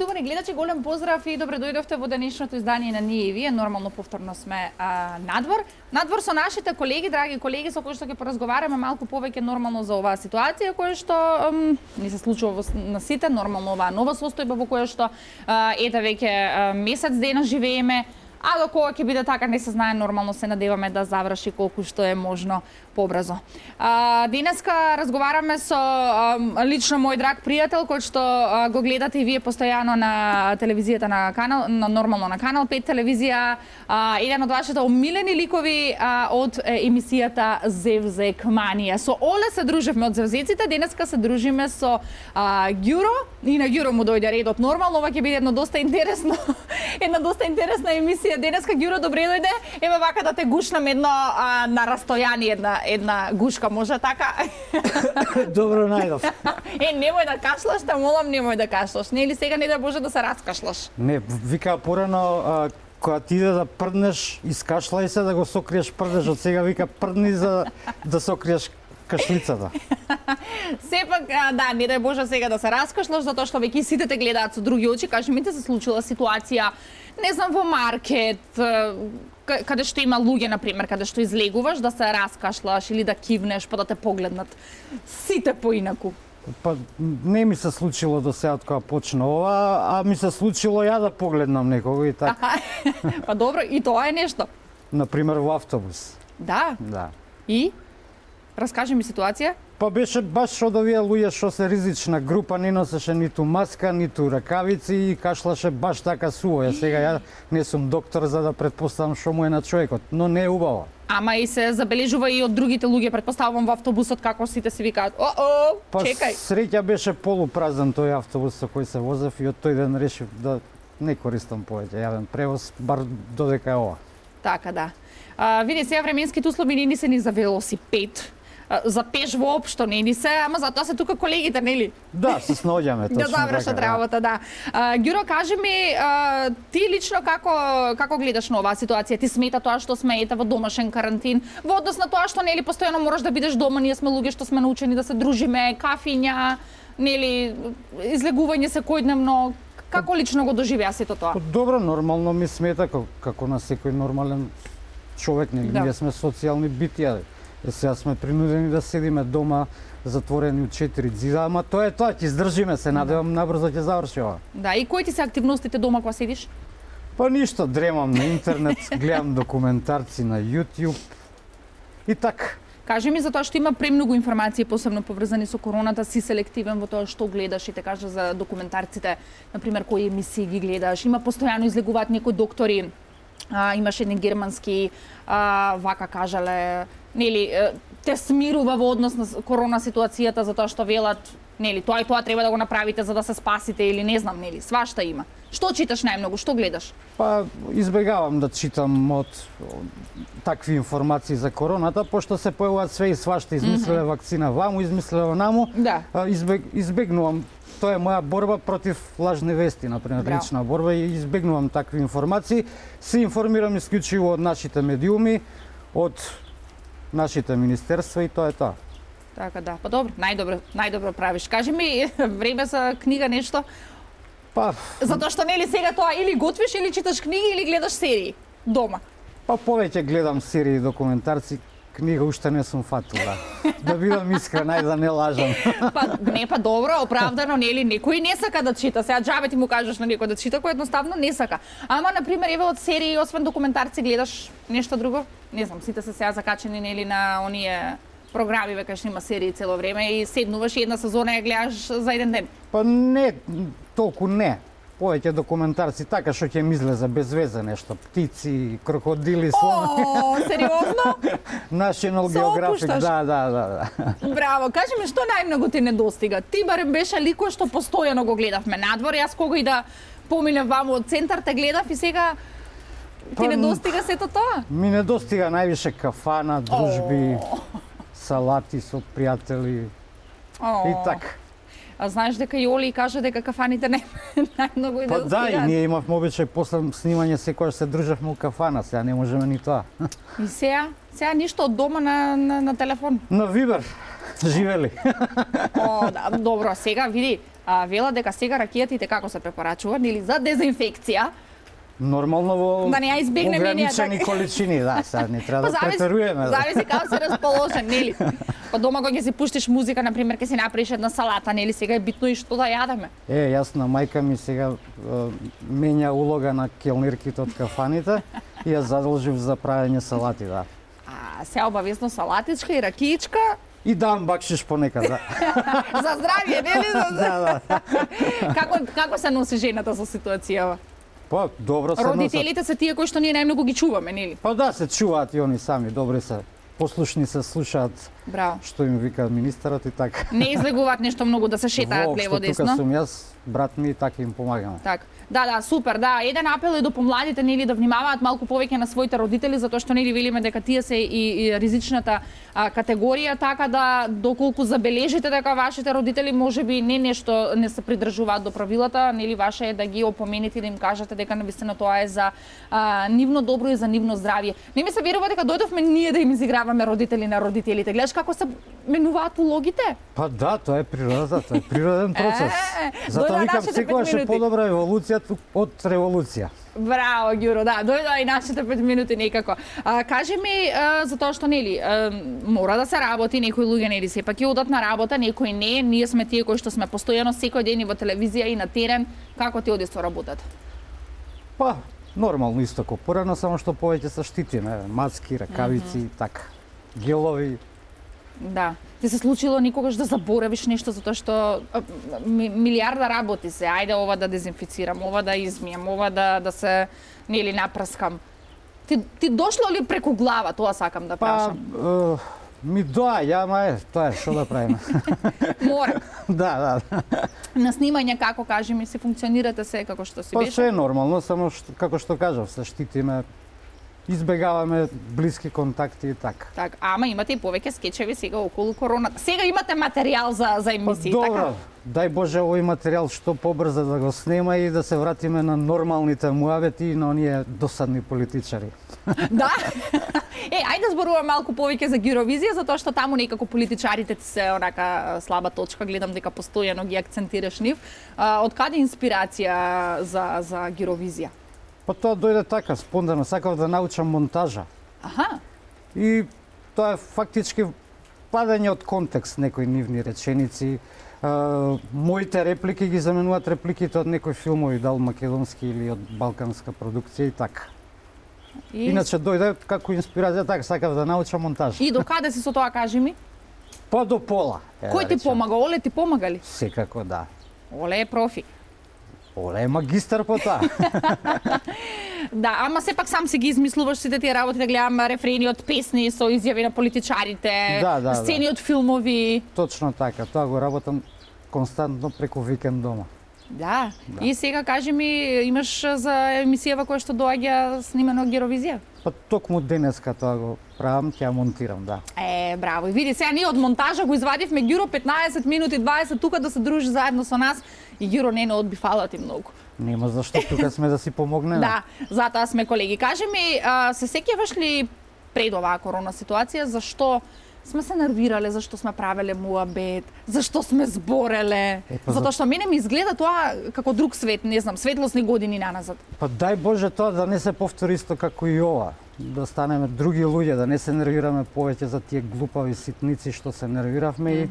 Поштувани гледачи, голем поздрав и добре дојдовте во денешното издание на Ние и Вие. Нормално повторно сме надвор. Надвор со нашите колеги, драги колеги, со кои што ќе поразговараме малку повеќе нормално за оваа ситуација која што ни се случува на сите, нормално оваа нова состојба во која што ете веќе месец дена живееме. А до кога ќе биде така не се знае, нормално се надеваме да заврши колку што е можно побрзо. Денеска разговараме со лично мој драг пријател кој што го гледате и вие постојано на телевизијата на канал, нормално на канал 5 телевизија, еден од вашите омилени ликови од емисијата Зевзек Манија. Со Оле се дружевме од Зевзеците, денеска се дружиме со Ѓуро и на Ѓуро му дојде редот нормално, ова ќе биде една доста интересна емисија. Денеска Ѓуро добре дојде. Еве вака да те гушнам едно на растојание една гушка, може така? Добро најдов. Немој да кашлаш, те молам, немој да кашлаш. Не или сега не да може да се раскашлаш. Не, вика порано кога ти иде да прднеш, искашлај се да го сокриеш прдежот. Сега вика прдни за да сокриеш кашлицата. Сепак, да, не дај Боже сега да се раскашлаш, затоа што веќе сите те гледаат со други очи. Кажи ми, те се случила ситуација, не знам, во маркет, каде што има луѓе, например, каде што излегуваш, да се раскашлаш или да кивнеш, па да те погледнат сите поинаку. Па не ми се случило до сега кога почна ова, а ми се случило ја да погледнам некого и така. Па добро, и тоа е нешто. Например во автобус. Да? Да. И? Раскажи ми ситуација. Па беше баш од овие луѓе што се ризична група, не носеше ниту маска, ниту ракавици и кашлаше баш така суво. Сега ја не сум доктор за да претпоставам што му е на човекот, но не е убаво. Ама и се забележува и од другите луѓе, претпоставувам во автобусот како сите си викаат: чекај. Па среќа беше полупразен тој автобус со кој се возев и од тој ден решив да не користам повеќе јавен превоз, бар додека е ова. Така да. Види, сега временските услови не ни се ни за велосипед. За пеш воопшто не ни се, ама затоа се тука колегите, нели? Да, се снаоѓаме точно. Да завршат работа, да. Ѓуро, кажи ми, ти лично како гледаш на оваа ситуација? Ти смета тоа што сме ете во домашен карантин, во однос на тоа што нели постојано мораш да бидеш дома, ние сме луѓе што сме научени да се дружиме, кафиња, нели, излегување секојдневно. Како лично го доживеа сето тоа? Добро, нормално ми смета како на секој нормален човек, нели? Ние сме социјални битија. Сега сме принудени да седиме дома затворени од 4 ѕида, ама тоа е тоа, ќе издржиме се, надевам набрзо ќе заврши ова. Да, и кои ти се активностите дома кога седиш? Па ништо, дремам на интернет, гледам документарци на YouTube и така. Кажи ми, затоа што има премногу информации, посебно поврзани со короната, си селективен во тоа што гледаш и те кажа за документарците, например, кои емисии ги гледаш, има постојано излегуваат некои доктори, имаше еден германски, вака кажале, нели, те смирува во однос на корона ситуацијата затоа што велат, нели, тоа и тоа треба да го направите за да се спасите или не знам, нели, свашта има. Што читаш најмногу, што гледаш? Па избегавам да читам од такви информации за короната, пошто се појавуваат све и свашта, измислиле вакцина ваму, измислиле наму. Да. Избегнувам. Тоа е моја борба против лажни вести, например, лична борба, и избегнувам такви информации. Се информирам исклучиво од нашите медиуми, од нашите министерства и тоа е тоа. Така да, па добро, најдобро правиш. Кажи ми, време за книга нешто? Па, затоа што нели сега тоа или готвиш или читаш книги или гледаш серии дома? Па повеќе гледам серии и документарци, книга уште не сум фатила. Да бидам искрен, ајде да не лажам. Па добро, оправдано, нели, некој не сака да чита. Сега џабе ти му кажеш на некој да чита, кој едноставно не сака. Ама на пример, еве од серии, освен документарци, гледаш нешто друго? Не знам, сите се сега закачени нели на оние програми, веќе што има серии цело време и седнуваш и една сезона ја гледаш за еден ден. Па не, толку не. Повеќе документарци, така што ќе ми излезе без везе нешто, птици, крокодили, слонови. О, сериозно? National Geographic, да. Браво, кажи ми, што најмногу ти недостига? Ти барем беше лико што постојано го гледавме надвор, јас кога и да поминав ваму од центар те гледав и сега ти недостига сето тоа? Ми недостига највише кафана, дружби, салати со пријатели и така. А знаеш дека и Оли кажа дека кафаните најмногу и Па да, и ние имавме обичај после снимање секогаш се дружевме у кафана, сега не можеме ни тоа. И сега ништо од дома на телефон? На Вибер, живели. О, да, добро, сега види, вела дека сега ракијатите како се препорачува, нели за дезинфекција. Нормално во да не ја избегнеме ограничени количини, да, сега не треба да претеруваме. Зависи како се расположен, нели? Па дома кога ќе си пуштиш музика, на пример, ќе си направиш една салата, нели? Сега е битно и што да јадеме. Јасно, мајка ми сега менја улога на келнирките од кафаните и ја задолжив за правење салати, да. Се обавезно салатичка и ракиичка. И дам бакшиш понекад, да. За здравје, нели? Да. Како се носи жената со ситуацијава? Па, добро се Родителите се тие кои што ние најмногу ги чуваме, нели? Па да, се чуваат и они сами, добри се. Послушни се, слушаат. Браво. Што им вика министерот и така. Не излегуваат нешто многу да се шетаат лево десно. Тука сум јас, брат ми и така им помагаме. Так. Да, супер, да. Еден апел е до помладите, нели, да внимаваат малку повеќе на своите родители, затоа што нели велиме дека тие се и ризичната категорија, така да доколку забележите дека вашите родители можеби не нешто не се придржуваат до правилата, нели ваше е да ги опомените и да им кажете дека навистина тоа е за нивно добро и за нивно здравје. Не ми се верува дека дојдовме ние да им изиграваме родители на родителите. Гледаш како се менуваат улогите? Па да, тоа е природата, тоа е природен процес. Затоа викам секогаш е подобра еволуција од револуција. Браво, Ѓуро, да, дојдоа и нашите 5 минути некако. Кажи ми, затоа што, нели, мора да се работи, некои луѓе, нели, сепак ќе одат на работа, некои не, ние сме тие кои што сме постојано секој ден и во телевизија и на терен, како ти оди со работата? Па, нормално исто како порано, само што повеќе се штитиме, маски, ракавици, така, гелови. Да. Ти се случило никогаш да заборавиш нешто затоа што милиарда работи се, ајде ова да дезинфицирам, ова да измијам, ова да се нели напрскам. Ти дошло ли преку глава, тоа сакам да прашам? Па, ми доаѓа, ама тоа е, што да правиме. Мора. Да. На снимање како, кажи ми, се функционирате се како што си беше? Па се е нормално, само како што кажав, се штитиме, избегаваме блиски контакти и така. Так, ама имате и повеќе скечеви сега околу короната. Сега имате материјал за емисии, добро, така? Дај Боже овој материјал што побрзо да го снема и да се вратиме на нормалните муабети и на оние досадни политичари. Да? Ајде зборуваме малку повеќе за Гировизија, затоа што таму некако политичарите ти се онака слаба точка, гледам дека постојано ги акцентираш нив. Од каде инспирација за Гировизија? Па тоа дојде така, спонтано, сакав да научам монтажа. Аха. И тоа е фактички падање од контекст некои нивни реченици. Моите реплики ги заменуваат репликите од некои филмови, дал македонски или од балканска продукција и така. Иначе дојде како инспирација, така сакав да научам монтаж. И до каде си со тоа, кажи ми? Па до пола. Кој ти помага? Оле ти помагали? Секако да. Оле е профи. Оле е магистар по тоа. Да, ама сепак сам си ги измислуваш сите тие работи, да гледам рефрени од песни со изјави на политичарите, сцени од филмови. Точно така, тоа го работам константно преку викенд дома. Да. И сега кажи ми, имаш за емисијава која што доаѓа снимено Гировизија? Па токму денеска тоа го правам, ќе ја монтирам, да. Браво. И види, сега ние од монтажа го извадивме Ѓуро 15 минути 20 тука да се дружи заедно со нас и Ѓуро не одби, фала ти многу. Нема зашто, тука сме да си помогнеме. Да, затоа сме колеги. Кажи ми, се сеќаваш ли пред оваа корона ситуација зашто сме се нервирале, зашто сме правеле муабет, зашто сме збореле? Затоа што мене ми изгледа тоа како друг свет, не знам, светлосни години наназад. Па дај Боже тоа да не се повтори исто како и ова. Да станеме други луѓе, да не се нервираме повеќе за тие глупави ситници што се нервиравме и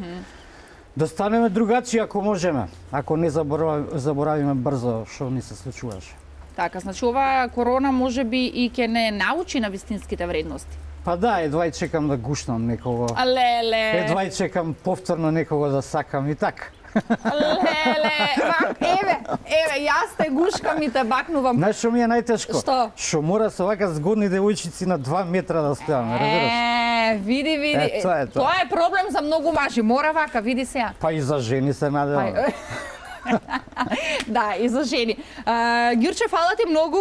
да станеме другачи ако можеме, ако не заборавиме брзо што ни се случуваше. Така, значи оваа корона можеби и ќе не научи на вистинските вредности. Па да, едва и чекам да гушнам некого. Леле. Едва и чекам повторно некого да сакам и така. Леле, еве, јас те гушкам и те бакнувам. Знаеш што ми е најтешко? Што? Што мора со вака згодни девојчици на 2 метра да стојаме, разбираш? Види. Тоа е проблем за многу мажи. Мора вака, види сега. Па и за жени се надевам. Да, и за жени. Ѓурче, фала ти многу.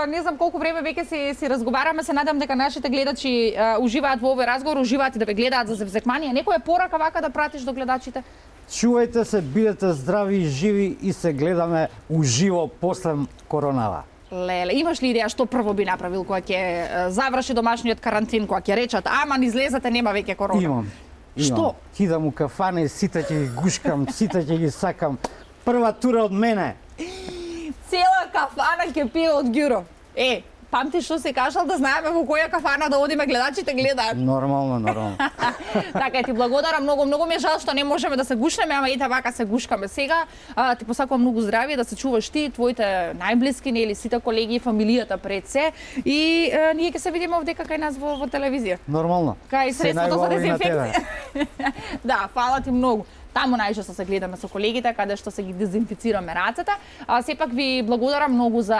Не знам колку време веќе си разговараме. Се надам дека нашите гледачи уживаат во овој разговор, уживаат и да ве гледаат за Зевзекманија. Некоја порака вака да пратиш до гледачите? Чувајте се, бидете здрави и живи и се гледаме уживо после коронава. Леле, имаш ли идеја што прво би направил кога ќе заврши домашниот карантин, кога ќе речат, ама излезете, нема веќе корона? Имам. Што? Кидам у кафане, сите ќе ги гушкам, сите ќе ги сакам. Прва тура од мене. Цела кафана ќе пие од Ѓуро. Памти што се кажал да знаеме во која кафана да одиме, гледачите гледаат. Нормално. Така, ти благодарам многу ми е жал што не можеме да се гушнеме, ама ете вака се гушкаме сега. Ти посакувам многу здравје, да се чуваш ти, твоите најблиски, нели, сите колеги, фамилијата пред се, и ние ќе се видиме овдека кај нас во телевизија. Нормално. Кај средството за дезинфекција. Да, фала ти многу. Таму најчесто се гледаме со колегите, каде што се ги дезинфицираме рацете. Сепак ви благодарам многу за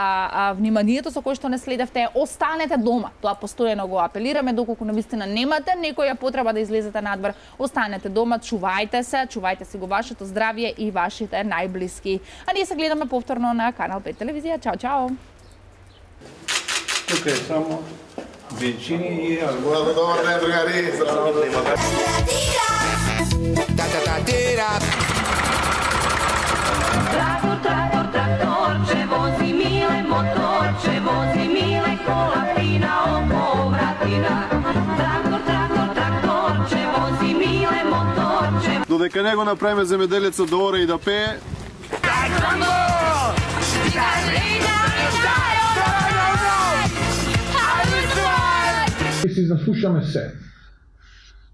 вниманието со кое што не следевте. Останете дома. Тоа постојано го апелираме, доколку навистина немате некоја потреба да излезете надвор. Останете дома, чувајте се, чувајте си го вашето здравје и вашите најблиски. А ние се гледаме повторно на Канал 5 телевизија. Чао. Тука е само бенчини и Добар ден, другари. Traktorče vozi mile, motorče vozi mile, kola fina oko vratina. Traktorče vozi mile, motorče. Додека не го направиме земеделецот да оре и да пее. Си заслушаме се.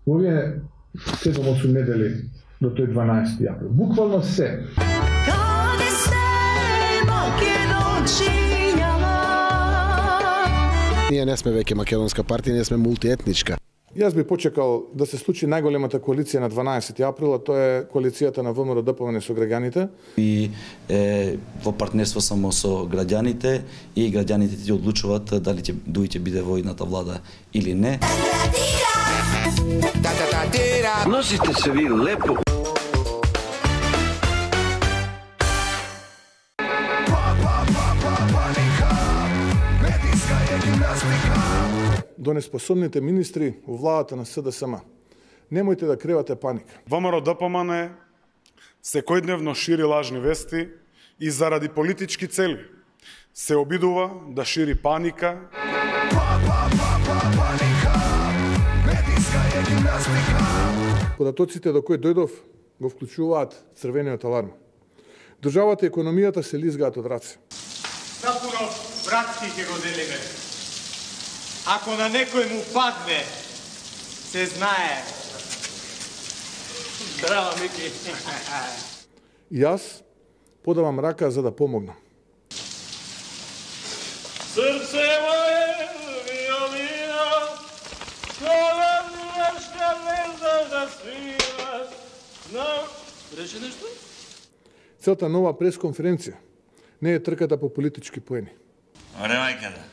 Овие 7-8 недели до тој 12 април. Буквално се. Ние не сме веќе македонска партија, ние сме мултиетничка. Јас би почекал да се случи најголемата коалиција на 12 април, а тоа е коалицијата на ВМРО ДПМНЕ со граѓаните. И во партнерство само со граѓаните, и граѓаните ти одлучуваат дали ќе биде во едната влада или не. Носите се ви лепо. До неспособните министри во владата на СДСМ. Немојте да креате паника. ВМРО ДПМНЕ секојдневно шири лажни вести и заради политички цели се обидува да шири паника. Податоците до кои дојдов го вклучуваат црвениот аларм. Државата и економијата се лизгаат од раце. Напуно братски ќе го делиме. Ако на некој му падне, се знае. Здраво, Мики. Јас подавам рака за да помогнам. Срце моје, виолина, кола милашка не знаш да свираш. Рече нешто? Целта нова пресконференција не е трката по политички поени. Оре, мајката.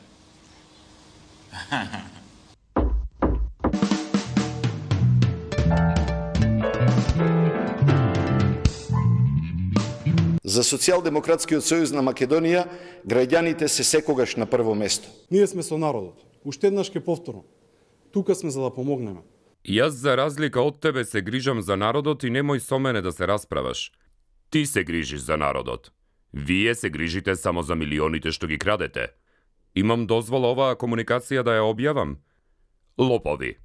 За Социјалдемократскиот сојуз на Македонија, граѓаните се секогаш на прво место. Ние сме со народот. Уште еднаш ке повторам. Тука сме за да помогнеме. Јас за разлика од тебе се грижам за народот и немој со мене да се расправаш. Ти се грижиш за народот. Вие се грижите само за милионите што ги крадете. Имам дозвола оваа комуникација да ја објавам? Лопови.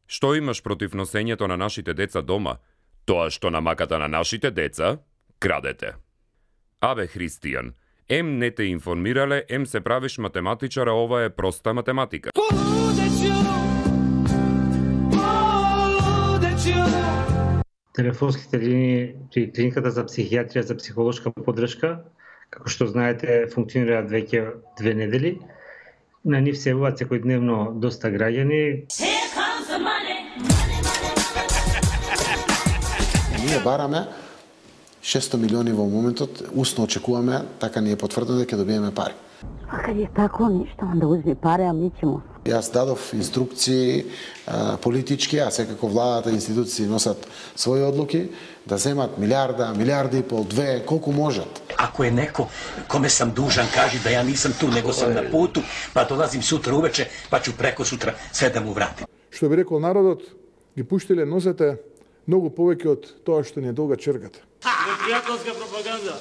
Што имаш против носењето на нашите деца дома? Тоа што на маката на нашите деца крадете. Абе, Христијан, ем не те информирале, ем се правиш математичар, а ова е проста математика. Телефонските линии при клиниката за психијатрија за психолошка поддршка, како што знаете, функционираат веќе 2 недели. На нив се јавуваат секојдневно доста граѓани. Ние бараме 600 милиони во моментот, усно очекуваме, така ни е потврдено дека ќе добиеме пари. А кај е тако нешто, да узми пари, а ми ќе му. Јас дадов инструкции политички, а секако владата и институции носат своји одлуки, да земат милиарда, милиарда и пол, 2, колку можат. Ако е неко коме сам дужан, кажи да ја нисам ту, него сам на путу, па долазим сутра увече, па ću преко сутра све да му вратим. Што би рекол народот, ги пуштиле носете многу повеќе од тоа што ни е долга чергата. Непријателска пропаганда.